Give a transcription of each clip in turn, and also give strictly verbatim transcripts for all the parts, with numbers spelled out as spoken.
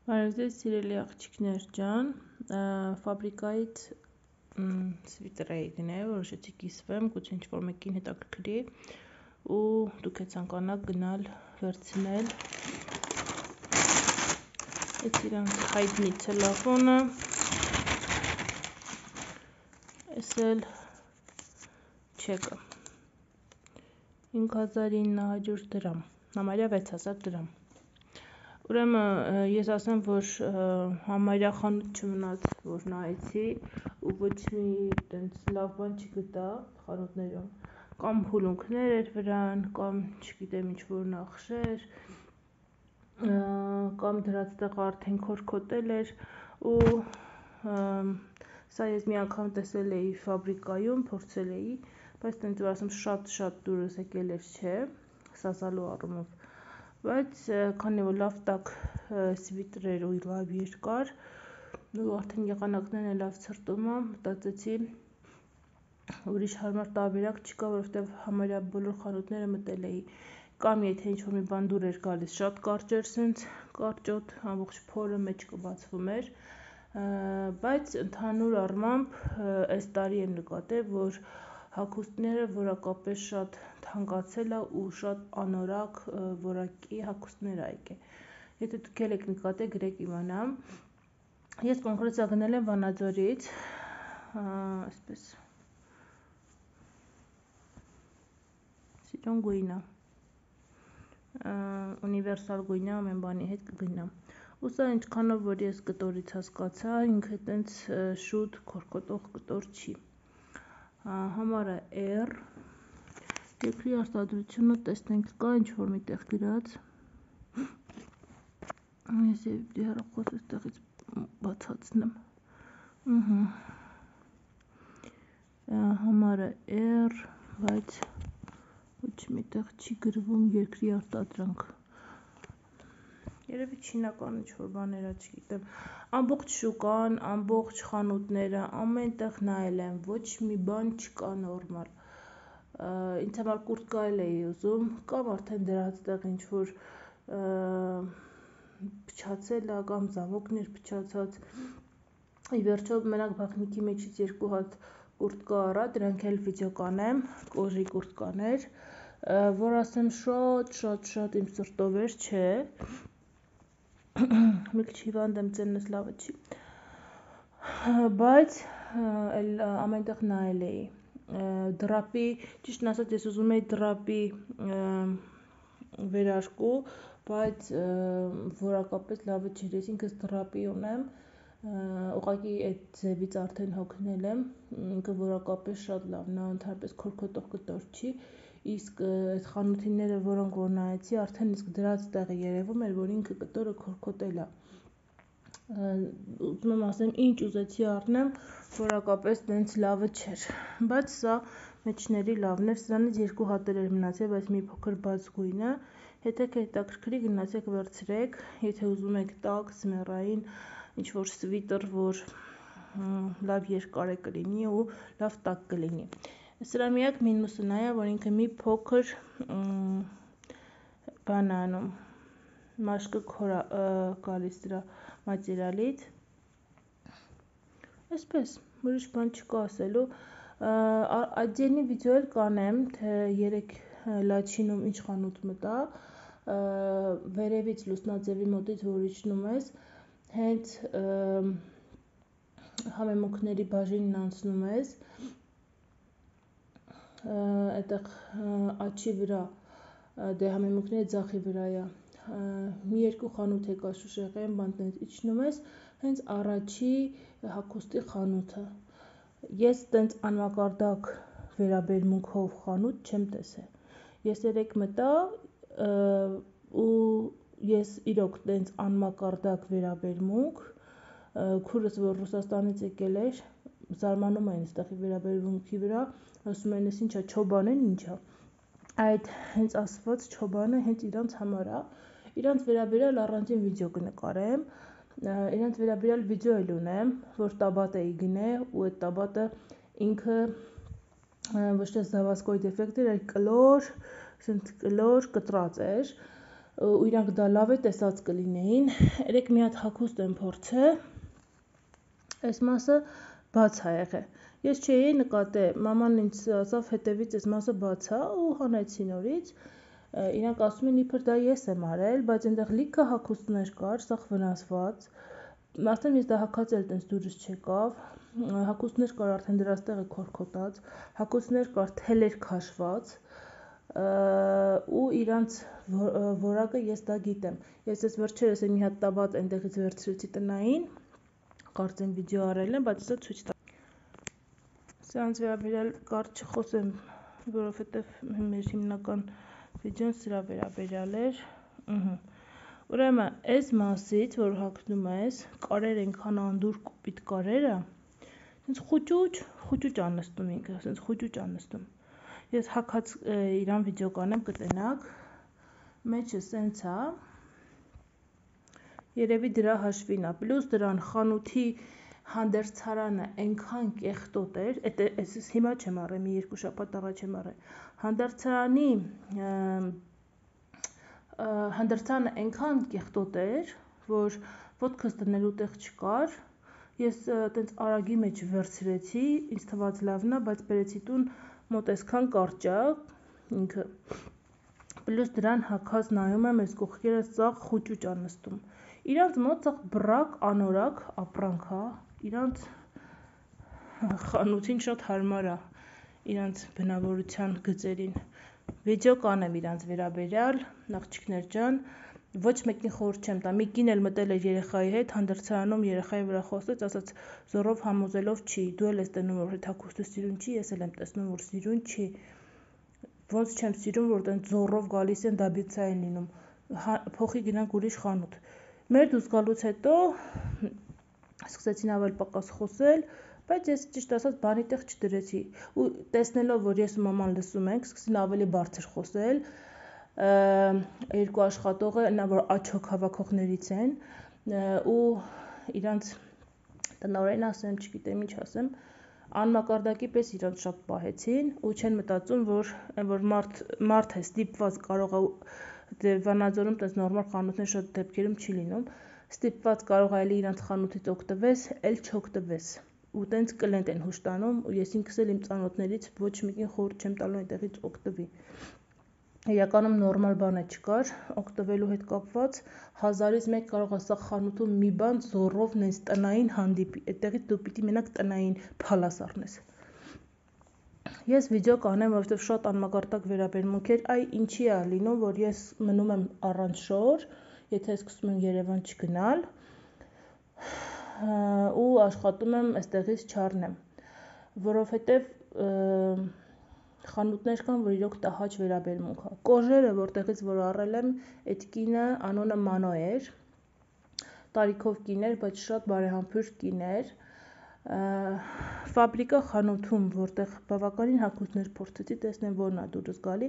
Բարև ձեզ սիրելի աղջիկներ ջան, ֆաբրիկայից սվիտր էի գնել, որոշեցի կիսվեմ, գուցե ինչ-որ մեկին հետաքրքրի ու դուք եք ցանկանաք գնալ վերցնել այդ իրանց հայտնի ցելոֆանը, էս էլ չեկը, հինգ հազար ինը հարյուր դրամ, համարյա վեց հազար դրամ։ Ուրեմն ես ասեմ, որ համարյա խանութ չմնաց, որ նայեցի ու ոչ մի տենց լավ բան չգտա խանութներում, կամ հուլունքներ էր վրան, կամ չգիտեմ ինչ-որ նախշեր, կամ դրած տեղը արդեն քորքոտել էր ու սա ես մի անգամ տեսել էի ֆաբրիկայում, փորձել էի, բայց տենց որ ասեմ շատ-շատ դուրս եկել էր չէ, սազալու առումով, բայց քանի որ լավ տաք սվիտր էր ու լավ երկար ու արդեն եղանակներն էլ լավ ցրտում ա, մտածեցի ուրիշ հարմար տարբերակ չկա, որովհետև համարյա բոլոր խանութները մտել էի, կամ եթե ինչ-որ մի բան դուր էր գալիս, շատ կարճ էր սենց, կարճոտ, ամբողջ փորը մեջ կբացվում էր, բայց ընդհանուր առմամբ այս տարի եմ նկատել, որ հագուստները որակապես շատ թանկացել ա ու շատ անորակ որակի հագուստներ ա եկել, եթե դուք էլ եք նկատել գրեք իմանամ, ես կոնկրետ գնել եմ Վանաձորից, այսպես, սիրուն գույն ա, ունիվերսալ գույն ա, ամեն բանի հետ կգնա, ու սա ինչքանով որ ես կտորից հասկացա, ինքը տենց շուտ քորքոտող կտոր չի, համարը R, երկրի արտադրությունը տեսնենք կա ինչ-որ միտեղ գրած, ես և հեռախոս էստեղից բացացնեմ, համարը R, բայց ոչ միտեղ չի գրվում երկրի արտադրանք, երևի չինական ինչ-որ բաներ ա, չգիտեմ, ամբողջ շուկան, ամբողջ խանութները, ամեն տեղ նայել եմ, ոչ մի բան չկա նորմալ, ինձ համար կուրտկա էլ էի ուզում, կամ արդեն դրած տեղ ինչ-որ փչացել ա, կամ զամոկն էր փչացած, ի վերջո մենակ բաղնիքի մեջից երկու հատ կուրտկա առա, դրանք էլ վիդեո կանեմ, կոժի կուրտկաներ, որ ասեմ շատ շատ շատ իմ սրտով էր, չէ, մի քիչ հիվանդ եմ ծեննս լավը չի, բայց էլ ամենտեղ նայել էի, դրապի, ճիշտն ասած ես ուզում էի դրապի վերարկու, բայց որակապես լավը չէր, ես ինքս դրապի ունեմ, ուղղակի այդ ձևից արդեն հոգնել եմ, ինքը որակապես շատ լավն ա, ընդհանրապես քորքոտող կտոր չի, իսկ այդ խանութիները, որոնք որ նայեցի, արդեն իսկ դրած տեղը երևում էր, որ ինքը կտորը քորքոտել ա, ուզում եմ ասեմ, ինչ ուզեցի առնեմ, որակապես տենց լավը չէր, բայց սա մեջների լավն էր, սրանից երկու հատ էր մնացել, բայց մի փոքր բաց գույնը, եթե հետաքրքրի գնացեք վերցրեք, եթե ուզում եք տաք, ձմեռային, ինչ-որ սվիտր, որ լավ երկար է կլինի ու լավ տաք կլինի, սրա միակ մինուսը նա ա, որ ինքը մի փոքր բան ա անում, մաշկը քոր ա գալիս դրա մատերիալից, այսպես, ուրիշ բան չկա ասելու, այդյենի վիդեո էլ կանեմ, թե երեկ լաչինում ինչ խանութ մտա, վերևից լուսնաձևի մոտից որ իջնում ես, հենց համեմունքների բաժինն անցնում ես, այդտեղ աչի վրա, դե համեմունքների ձախի վրա ա, մի երկու խանութ եկա Շուշեղեն, բան տենց իջնում ես, հենց առաջի հագուստի խանութը, ես տենց անմակարդակ վերաբերմունքով խանութ չեմ տեսել, ես երեկ մտա ու ես իրոք տենց անմակարդակ վերաբերմունք, քուրս որ Ռուսաստանից եկել էր, զարմանում էին ստեղի վերաբերմունքի վրա, ասում են ես ինչա չոբան են ինչա, այդ հենց ասված չոբանը հենց իրանց համար ա, իրանց վերաբերյալ առանձին վիդեո կնկարեմ, իրանց վերաբերյալ վիդեո էլ ունեմ, որ տաբատ էի գնել ու այդ տաբատը ինքը ոչ թե զավասկոյի դեֆեկտ էր, այլ կլոր, կլոր կտրած էր, ու իրանք դա լավ է տեսած կլինեին, երեք մի հատ հագուստ եմ փորձել, այս մասը բաց ա եղել, ես չէի նկատել, մաման ինձ ասավ հետևից այս մասը բաց ա ու հանեցի նորից, իրանք ասում են իբր դա ես եմ արել, բայց այնտեղ լիքը հագուստներ կար, սաղ վնասված, արդեն ես դա հագած էլ տենց դուրս չեկավ, հագուստներ կար արդեն դրած տեղը քորքոտած, հագուստներ կար թելեր քաշված, ու իրանց որակը ես դա գիտեմ, ես ես վերջերս մի հատ տաբատ այնտեղից վերցրեցի տնային, կարծեմ վիդեո արել եմ, բայց սա ցույց տա։ Սրանց վերաբերյալ կարճ չխոսեմ, որովհետև մեր հիմնական վիդեոն սրա վերաբերյալ էր, ուրեմն այս մասից, որ հագնում ես, կարեր ենքան անդուր կոպիտ կարերը, սենց խուճուճ, խուճուճ անստում ինքը, սենց խուճուճ անստում, ես հագած իրան վիդեո կանեմ կտենակ, մեջը սենց ա, երևի դրա հաշվին ա, պլյուս դրան խանութի հանդերձարանը ենքան կեղտոտ էր, ես հիմա չեմ առել, մի երկու շաբաթ առաջ եմ առել, հանդերձարանի հանդերձարանը ենքան կեղտոտ էր, որ ոտքս դնելու տեղ չկար, ես տենց արագի մեջ վերցրեցի, ինձ թված լավն ա, բայց բերեցի տուն մոտ այսքան կարճ ա, ինքը, պլյուս դրան հագած նայում եմ, այս կողքերը սաղ խուճուճ ա նստում, իրանց մոտ սաղ բռակ անորակ ապրանք ա, իրանց խանութին շատ հարմար ա, իրանց բնավորության գծերին, վիդեո կանեմ իրանց վերաբերյալ, աղջիկներ ջան, ոչ մեկին խորհուրդ չեմ տա, մի կին էլ մտել էր երեխայի հետ, հանդերձարանում երեխայի վրա խոսեց, ասաց զոռով համոզելով չի, դու էլ ես տենում, որ հետ հագուստը սիրուն չի, ես էլ եմ տեսնում, որ սիրուն չի, ոնց չեմ սիրում, որ տենց զոռով գալիս են դաբիցա են լինում, փոխի գնանք ուրիշ խանութ, մեր դուրս գալուց հետո սկսեցին ավել պակաս խոսել, բայց ես ճիշտ ասած բանի տեղ չդրեցի, ու տեսնելով, որ ես ու մաման լսում ենք, սկսեցին ավելի բարձր խոսել, երկու աշխատողը, նա որ աչոք հավաքողներից են, ու իրանց տնօրեն ասեմ, չգիտեմ ինչ ասեմ, անմակարդակի պես իրանց շատ պահեցին, ու չեն մտածում, որ որ մարդ, մարդ է ստիպված կարող է Վանաձորում տես նորմալ խանութներ շատ դեպքերում չի լինում, ստիպված կարող է էլի իրանց խանութից օգտվես, էլ չօգտվես, ու տենց կլենտ են հուշ տանում, ու ես ինքս էլ իմ ծանոթներից ոչ մեկին խորհուրդ չեմ տալու այնտեղից օգտվի, իրականում նորմալ բան է չկար, օգտվելու հետ կապված, հազարից մեկ կարող է սա խանութում մի բան զոռով նենց տնային հանդիպի, այդտեղից դու պիտի մենակ տնային փալաս առնես, ես վիդեո կանեմ, որովհետև շատ անմակարդակ վերաբերմունք էր, այ ինչի ա լինում, որ ես մնում եմ առանց շոր, եթե սկսում եմ Երևան չգնալ, ու աշխատում եմ այստեղից չառնեմ, որովհետև խանութներ կան, որ իրոք տհաճ վերաբերմունք ա, կոժերը, որտեղից որ առել եմ, այդ կինը անունը Մանո էր, տարիքով կին էր, բայց շատ բարեհամբույր կին էր, ֆաբրիկա խանութում, որտեղ բավականին հագուստներ փորձեցի, տեսնեմ որն ա դուրս գալի,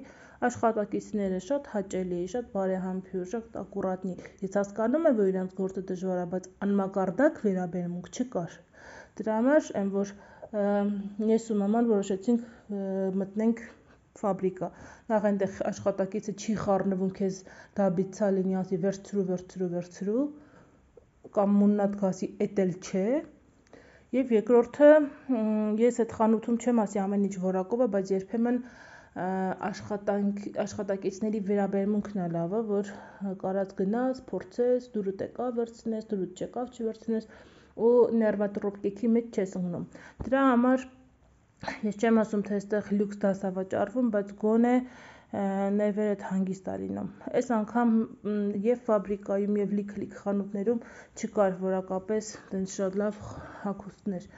աշխատակիցները շատ հաճելի, շատ բարեհամբույր, շատ ակուրատնի, ես հասկանում եմ, որ իրանց գործը դժվար ա, բայց անմակարդակ վերաբերմունք չկար, դրա համար եմ, որ ես ու մաման որոշեցինք մտնենք ֆաբրիկա, նախ այնտեղ աշխատակիցը չի խառնվում քեզ դաբիցա լինի, ասի վերցրու, վերցրու, վերցրու, կամ մուննատ գասի, էդ էլ չէ, և երկրորդը, ես այդ խանութում չեմ ասի ամեն ինչ որակով է, բայց երբեմն աշխատակիցների վերաբերմունքն ա լավը, որ կարած գնաս, փորձես, դուրդ եկավ վերցնես, դուրդ չեկավ չվերցնես, ու ներվատրոպկեքի մեջ չես ընկնում, դրա համար ես չեմ ասում, թե այստեղ լյուքս դաս ա վաճառվում, բայց գոնե ներվերդ հանգիստ ա լինում, այս անգամ և ֆաբրիկայում և լիք-լիք խանութներում չկար որակապես տենց շատ լավ հագուստներ,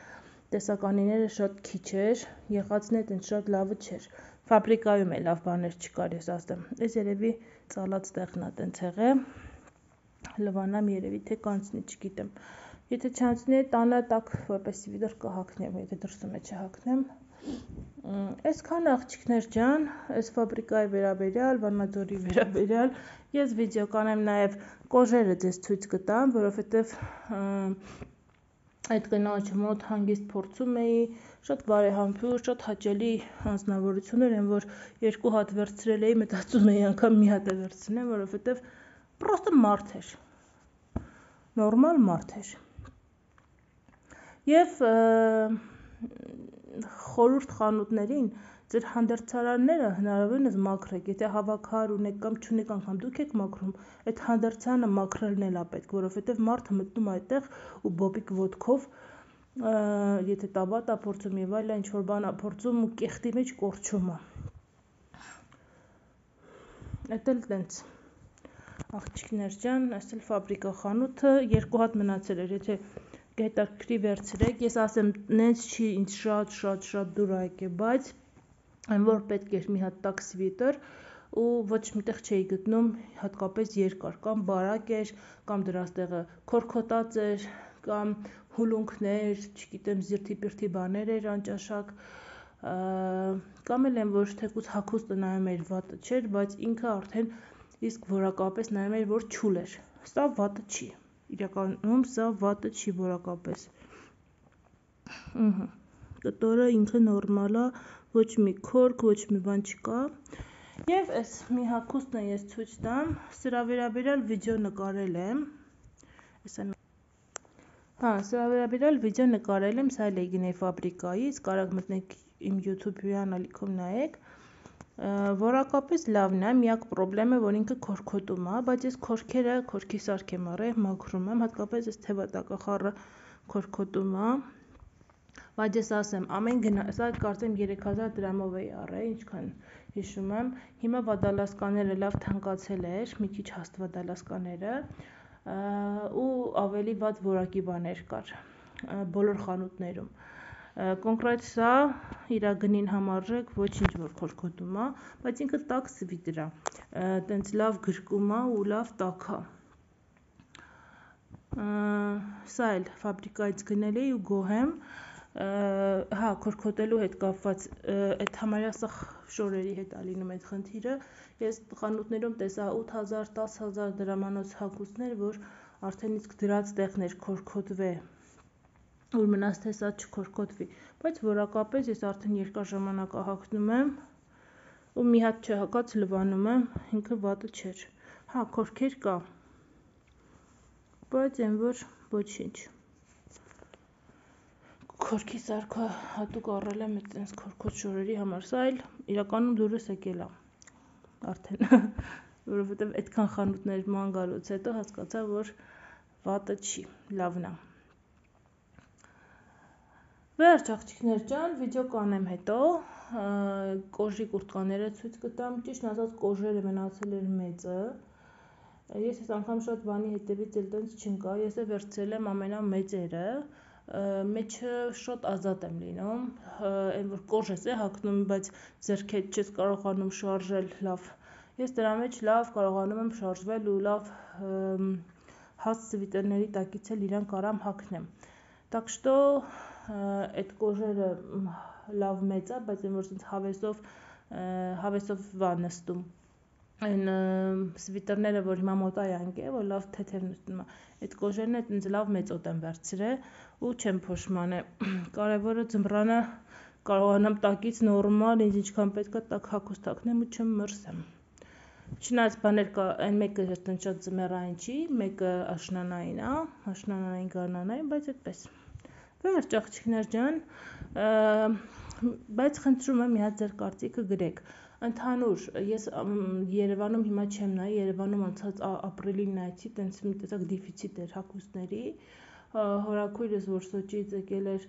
տեսականիները շատ քիչ էր, եղածն է տենց շատ լավը չէր, ֆաբրիկայում է լավ բաներ չկար, ես ասեմ, այս երևի ծալած տեղն ա տենց եղել, լվանամ երևի, թե կանցնի, չգիտեմ, եթե չանցնի, տանը տակ, որպեսի վիդր կհակնեմ, եթե դրսում է չհակնեմ, այսքան աղջիկներ ջան, այս ֆաբրիկայի վերաբերյալ, Վանաձորի վերաբերյալ, ես վիդեո կանեմ նաև կոժերը ձեզ ցույց կտամ, որովհետև այդ կնոջ մոտ հանգիստ փորձում էի, շատ բարեհամբույր, շատ հաճելի անձնավորություններ են, որ երկու հատ վերցրել էի, մտածում էի անգամ մի հատ է վերցնեմ, որովհետև պրոստը մարդ էր, նորմալ մարդ էր, և խորհուրդ խանութներին ձեր հանդերձարանները հնարավորինս մաքրեք, եթե հավաքար ունեք կամ չունեք անգամ դուք եք մաքրում, այդ հանդերձարանը մաքրելն էլ է պետք, որովհետև մարդը մտնում է այդտեղ ու բոբիկ ոտքով, եթե տաբատ է փորձում եւ այլն, ինչ-որ բան է փորձում ու կեղտի մեջ կորչում է։ Այդ էլ տենց, աղջիկներ ջան, այս էլ ֆաբրիկա խանութը, երկու հատ մնացել էր, եթե հետաքրքրի վերցրեք, ես ասեմ, նենց չի ինձ շատ շատ շատ դուր է եկել, բայց այն որ պետք էր մի հատ տաք սվիտեր ու ոչ միտեղ չէի գտնում հատկապես երկար, կամ բարակ էր, կամ դրանց տեղը քորքոտած էր, կամ հուլունքներ, չգիտեմ, զիրթի-պիրթի բաներ էր անճաշակ, կամ էլ են որ թեկուզ հագուստը նայում էր վատը չէր, բայց ինքը արդեն իսկ որակապես նայում էր որ չուլ էր, սա վատը չի, իրականում սա վատը չի որակապես, կտորը ինքը նորմալ է, ոչ մի քորք, ոչ մի բան չկա, և այս մի հագուստն ես ցույց տամ, սրա վերաբերյալ վիդեո նկարել եմ, հա, սրա վերաբերյալ վիդեո նկարել եմ, սա էլ էի գնել ֆաբրիկայից, կարող մտնեք իմ YouTube հյուրանալիքում նայեք, որակապես լավն է, միակ պրոբլեմը, որ ինքը քորքոտում է, բայց ես քորքերը քորքի սարք եմ առել, մաքրում եմ, հատկապես այս թևատակախառը քորքոտում է, բայց ես ասեմ, ամեն գնա, սա կարծեմ երեք հազար դրամով էի առել, ինչքան հիշում եմ, հիմա վադալասկաները լավ թանկացել էր, մի քիչ հաստ վադալասկաները, ու ավելի վատ որակի բաներ կար, բոլոր խանութներում, կոնկրետ սա իրա գնին համարժեք ոչինչ որ քորքոտում է, բայց ինքը տաք սվիտր է, տենց լավ գրկում է ու լավ տաք է, սա էլ ֆաբրիկայից գնել էի ու գոհ եմ, հա, քորքոտելու հետ կապված, այդ համարյա սա շորերի հետ է լինում այդ խնդիրը, ես խանութներում տեսա ութ հազար, տաս հազար դրամանոց հագուստներ, որ արդեն իսկ դրած տեղն էր քորքոտվե, որ մնաց թե սա չքորքոտվի, բայց որակապես ես արդեն երկար ժամանակ հագնում եմ, ու մի հատ չհագած լվանում եմ, ինքը վատը չէր, հա, քորքեր կա, բայց այն որ ոչինչ, քորքի սարքը հատուկ առել եմ այտենց քորքոտ շորերի համար, սա էլ իրականում դուրս եկել է, արդեն, որովհետև այդքան խանութներ ման գալուց հետո հասկացա, որ վատը չի, լավն է, վերջ աղջիկներ ջան, վիդեո կանեմ հետո, կոժի կուրտկաները ցույց կտամ, ճիշտ ասած կոժերը մնացել էր մեծը, ես ես անգամ շատ բանի հետևից էլ տենց չընկա, ես է վերցրել եմ ամենամեծերը, մեջը շատ ազատ եմ լինում, այն որ կոժ է հագնում, բայց ձեռքեդ չես կարողանում շարժել լավ, ես դրա մեջ լավ կարողանում եմ շարժվել ու լավ հաստ սվիտերների տակից էլ իրան կարամ հագնեմ, так что այդ կոժերը լավ մեծ է, բայց այն որ հավեսով, հավեսով վա նստում, այն սվիտերները, որ հիմա մոտա յանք է, որ լավ թեթև նստում է, այդ կոժերն է տենց լավ մեծոտ եմ վերցրել ու չեմ փոշմանը, կարևորը ձմռանը կարողանամ տակից նորմալ, ինձ ինչքան պետք է տակ հագուստ հագնեմ ու չեմ մրսեմ, չնայած բաներ կա, այն մեկը տենց շատ ձմեռային չի, մեկը աշնանային է, աշնանային գարնանային, բայց այդպես, վերջ աղջիկներ ջան, բայց խնդրում եմ մի հատ ձեր կարծիքը գրեք, ընդհանուր, ես Երևանում հիմա չեմ նայի, Երևանում անցած ապրիլին նայեցի, տենց մի տեսակ դիֆիցիտ էր հագուստների, հորաքույրս, որ Սոչիից եկել էր,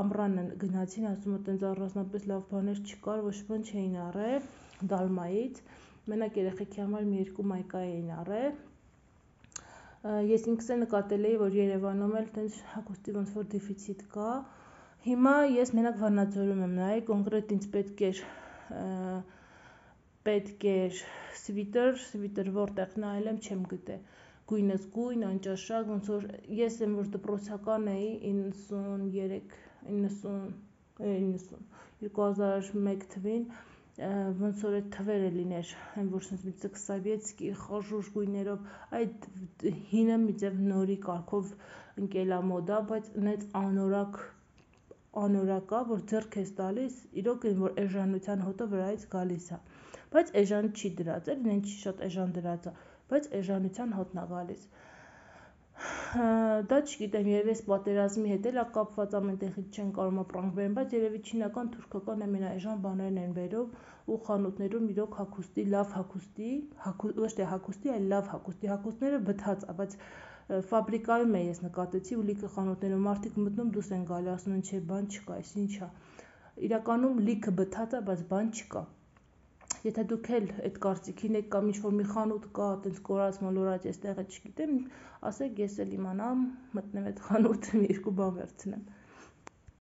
ամռանը գնացին, ասում է տենց առանձնապես լավ բաներ չկար, ոչ բան չէին առել, Դալմայից, մենակ երեխեքի համար մի երկու մայկա էին առել, ես ինքս էլ նկատել էի, որ Երևանում էլ տենց հագուստի ոնց որ դիֆիցիտ կա, հիմա ես մենակ Վանաձորում եմ նայել, կոնկրետ ինձ պետք էր, պետք էր սվիտեր, սվիտեր որտեղ նայել եմ չեմ գտել, գույնս գույն, անճաշակ, ոնց որ ես եմ որ դպրոցական էի իննսուններեք, իննսուն, իննսուն, երկու հազար մեկ թվին, ոնց որ այդ թվերը լիներ, այն որ սենց Սովետսկի խաժուժ գույներով, այդ հինը մի ձև նորի կարգով ընկել է մոդա, բայց նենց անորակ, անորակ է, որ ձեռք ես տալիս, իրոք այն որ էժանության հոտը վրայից գալիս է, բայց էժան չի դրած, էլ իրեն չի շատ էժան դրած է, բայց էժանության հոտն է գալիս։ Դա չգիտեմ, երևի այս պատերազմի հետ էլ է կապված, ամենտեղից չեն կարող ապրանք բերեն, բայց երևի չինական, թուրքական ամենաէժան բաներն են բերում ու խանութներում իրոք հագուստի, լավ հագուստի, ոչ թե հագուստի, այլ լավ հագուստի, հագուստները բթած է, բայց ֆաբրիկայում է ես նկատեցի ու լիքը խանութներում մարդիկ մտնում դուրս են գալի, ասում են չէ, բան չկա, այս ինչ է։ Իրականում լիքը բթած է, բայց բան չկա։ Եթե դուք էլ այդ կարծիքին եք կամ ինչ-որ մի խանութ կա, այտենց կորած մոլորած, ես տեղը չգիտեմ, ասեք, ես էլ իմանամ, մտնեմ այդ խանութ, երկու բան վերցնեմ։